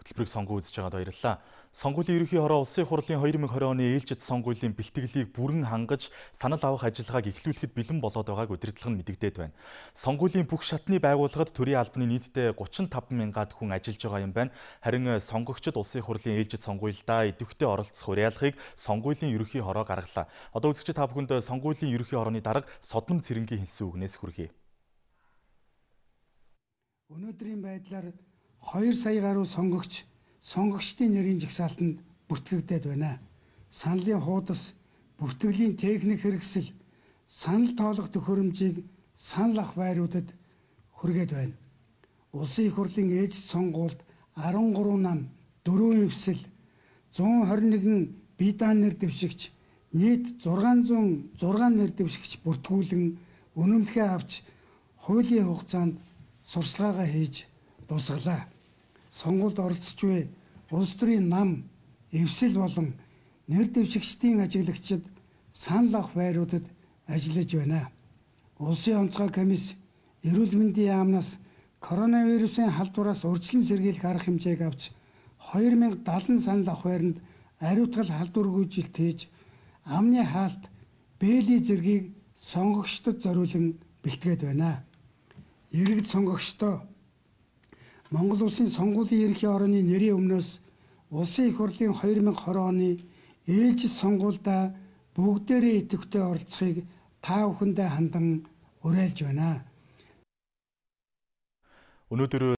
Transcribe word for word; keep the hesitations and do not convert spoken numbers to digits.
Хөтөлбөрийг сонгон үзэж байгаад баярлалаа. Сонгуулийн ерөнхий хороо улсын хурлын хоёр мың и оны ээлжид сонгуулийн бэлтгэлийг бүрэн хангаж санал авах ажиллагааг эхлүүлэхэд бэлэн болоод байгааг удирдлага нь мэдэгдээд байна. Сонгуулийн бүх шатны байгууллагад төрийн албаны нийтдээ гучин таван мянгаад хүн ажиллаж байгаа юм байна. Харин сонгогчид улсын хурлын ээлжид сонгуульдаа идэвхтэй оролцох уриалгыг сонгуулийн ерөнхий хороо гаргалаа. Одоо үзэгчид та бүхэнд сонгуулийн ерөнхий хорооны дарга Содном Цэрэнгийн хэлсэн үгнээс хүргэе. Өнөөдрийн байдлаар хоёр сая гаруй сонгогч сонгогчдын нэрийн жагсаалтанд бүртгэгдээд байна. Саналын хуудас, бүртгэлийн техник хэрэгсэл, санал тоолох төхөөрөмжийг санал ах байруудад хүргээд байна. Улсын их хурлын ээлжид сонгуульд арван гурван нам, дөрвөн эвсэл, зуун хорин нэгэн бие даан нэр дэвшигч, нийт зургаан зуун зургаан нэр дэвшигч бүртгүүлэн үнэмлэхээ авч хуулийн хугацаанд сурчлагаа хийж дуусгалаа. Сонгуульд оролцож буй улс төрийн нам, эвсэл болон нэр дэвшигчдийн ажиглагчид санал авах байруудад ажиллаж байна. Улсын онцгой комисс эрүүл мэндийн яамнаас коронавирусын халдвараас урьдчилан сэргийлэх арга хэмжээг авч хоёр мянга седем санал авах байранд ариутгал халдваргүйжилт хийж амны хаалт, бээлийн зэргийг сонгогчдод зориулан бэлтгээд байна. Иргэд сонгогчдоо Монгол улсын сонгуулийн ерөнхий хорооны нэрийн өмнөөс улсын их хурлын хоёр мың и20 оны ээлжид сонгуульдаа бүгдээрээ идэвхтэй оролцохыг та бүхэндээ хандан уриалж байна. Өнөөдөр